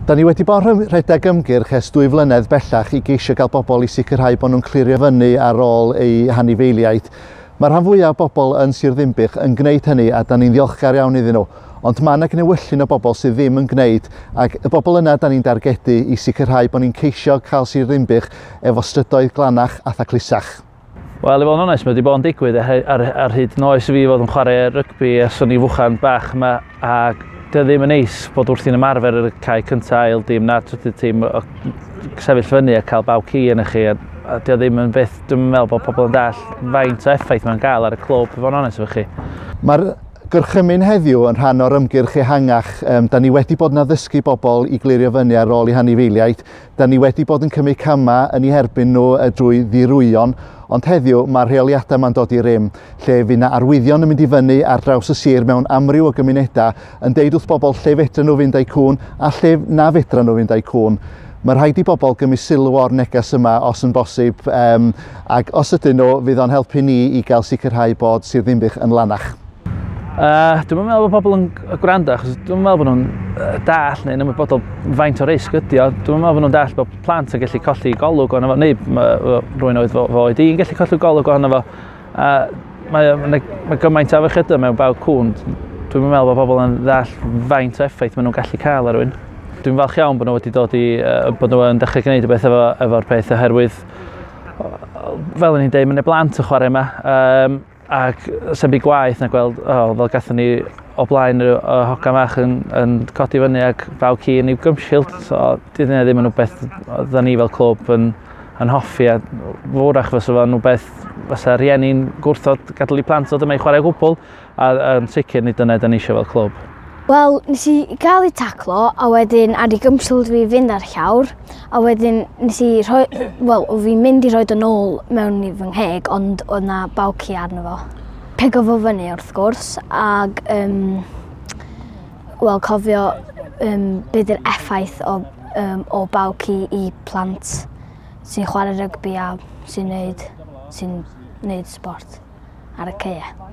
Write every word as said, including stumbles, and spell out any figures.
Da ni wedi bod yn rhedeg ymgyrch ers dwy flynedd bellach i geisio gael bobl i sicrhau bod nhw'n clirio fyny ar ôl eu hanifeiliaid. Mae rhan fwyaf o bobl yn Sir Ddinbych yn gwneud hynny a da ni'n ddiolchgar iawn iddyn nhw. Ond mae yna gnewyllyn o bobl sydd ddim yn gwneud, ac y bobl yna da ni'n dargedu i sicrhau bod ni'n ceisio cael Sir Ddinbych efo strydoedd glanach a thaclusach. Wel, i fod yn onest, mae wedi bod yn digwydd ar, ar, ar hyd oes fi fod yn chwarae rygbi ers o'n i fwchan bach yma, ac dio ddim yn neis bod wrthi'n ymarfer ar y cae cyntaf, ail dîm na trydydd tîm, o sefyll fyny a cael baw ci yn chi, a, a dio ddim yn beth, dwi'n meddwl bod pobl yn dall faint o effaith mae'n gael ar y clwb, i fod yn onest efo chi. Mae'r gorchymyn heddiw yn rhan o'r ymgyrch ehangach. Um, da ni wedi bod yn addysgu bobl i glirio fyny ar ôl eu hanifeiliaid. Da ni wedi bod yn cymryd camau yn eu herbyn nhw drwy ddirwyon, ond heddiw mae'r rheoliadau yma'n dod i rym, lle fydd 'na arwyddion yn mynd i fyny ar draws y sir mewn amryw o gymunedau yn deud wrth bobl lle fedra nhw fynd â'u cŵn a lle na fedra nhw fynd â'u cŵn. Mae rhaid i bobl gymryd sylw o'r neges yma os yn bosib, um, ac os ydyn nhw, fydd o'n helpu ni i gael sicrhau bod Sir Ddinbych yn lanach. Uh, dwi'n meddwl bod pobl yn gwrando, achos dwi'n meddwl bod nhw'n dall neu'n ymwybodol faint o risg ydi o. Dwi'n meddwl bod nhw'n dall bod plant yn gallu colli golwg ohono fo, neu rhywun oedd fo oed i'n gallu colli golwg ohono fo. Uh, mae, mae, mae gymaint o afiechydon mewn baw cŵn. Dwi'n meddwl bod pobl yn ddall faint o effaith maen nhw'n gallu cael ar rhywun. Dwi'n falch iawn bod nhw wedi dod i, uh, bod nhw yn dechrau gwneud rhywbeth efo, efo'r peth, oherwydd, fel o'n i'n deud, mae 'na blant yn chwarae yma. Um, ac sy'n byd gwaith na gweld, oh, fel gathon ni o blaen y, y hogan fach yn, yn codi fyny ac baw ci yn ei gumshield. So, di hynny ddim yn rhywbeth oedden ni fel clwb yn, yn hoffi, a fwrach fysa fo'n rhywbeth fysa rhieni'n gwrthod gadael i plant ddod yma i chwarae o gwbl, a, a yn sicr nid dyna da ni eisiau fel clwb. Wel, nes i gael ei taclo, a wedyn ar ei gumshield fi fynd ar llawr, a wedyn nes i rhoi, wel, o fi'n mynd i rhoi yn ôl mewn i fy ngheg, ond oedd na baw ci arno fo. Pigo fo fyny wrth gwrs, ag, um, wel, cofio um, be di'r effaith o, um, o baw ci i plant sy'n chwarae rygbi a sy'n neud, sy'n neud sport ar y caeau.